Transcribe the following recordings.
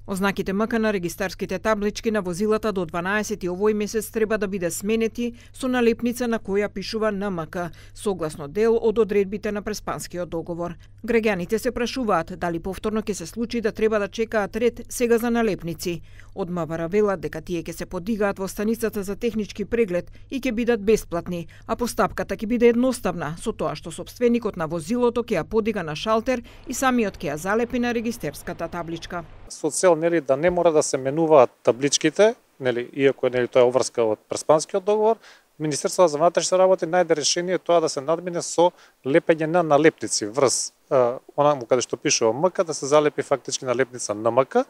Ознаките МК на регистарските таблички на возилата до 12 овој месец треба да биде сменети со налепница на која пишува НМК, согласно дел од одредбите на Преспанскиот договор. Граѓаните се прашуваат дали повторно ќе се случи да треба да чекаат ред сега за налепници. Од МВР велат дека тие ќе се подигаат во станицата за технички преглед и ќе бидат бесплатни, а постапката ќе биде едноставна, со тоа што сопственикот на возилото ќе ја подига на шалтер и самиот ќе ја залепи на регистерската табличка. Со цел да не мора да се менуваат табличките, иако тоа е обврска од Преспанскиот договор, Министерството за внатрешни работи најде решение тоа да се надмине со лепење на налепници врз онаму каде што пишува МК, да се залепи фактички налепница НМК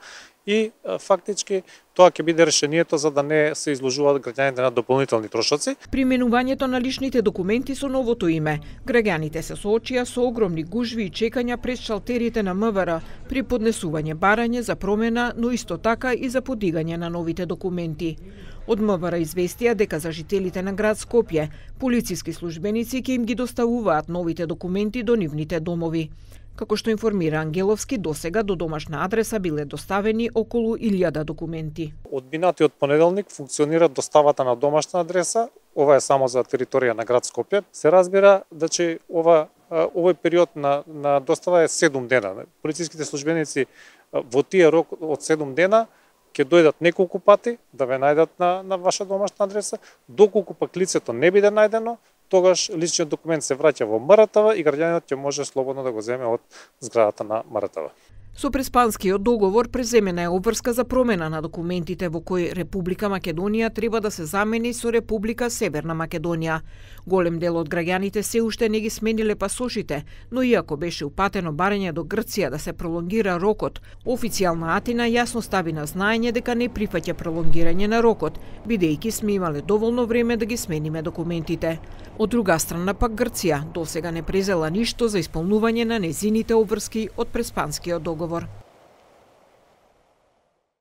и фактички тоа ќе биде решението за да не се изложуваат граѓаните на дополнителни трошоци. Применувањето на личните документи со новото име. Граѓаните се соочија со огромни гужви и чекања пред шалтерите на МВР при поднесување барање за промена, но исто така и за подигање на новите документи. Од МВР известија дека за жителите на град Скопје, полициски службеници ќе им ги доставуваат новите документи до нивните домови. Како што информира Ангеловски, досега до домашна адреса биле доставени околу 1000 документи. Од минатиот понеделник функционира доставата на домашна адреса, ова е само за територија на град Скопје. Се разбира да овој период на достава е 7 дена. Полициските службеници во тие рок од 7 дена ќе дојдат неколку пати да ве најдат на ваша домашна адреса, доколку пак лицето не биде најдено, тогаш личниот документ се враќа во МРТВ и граѓанинот ќе може слободно да го земе од зградата на МРТВ. Со Преспанскиот договор преземена е обврска за промена на документите во кој Република Македонија треба да се замени со Република Северна Македонија. Голем дел од граѓаните се уште не ги смениле пасошите, но иако беше упатено барање до Грција да се пролонгира рокот, официјална Атина јасно стави на знаење дека не прифаќа пролонгирање на рокот, бидејќи сме имале доволно време да ги смениме документите. Од друга страна пак Грција досега не презела ништо за исполнување на незините обврски од Преспанскиот договор.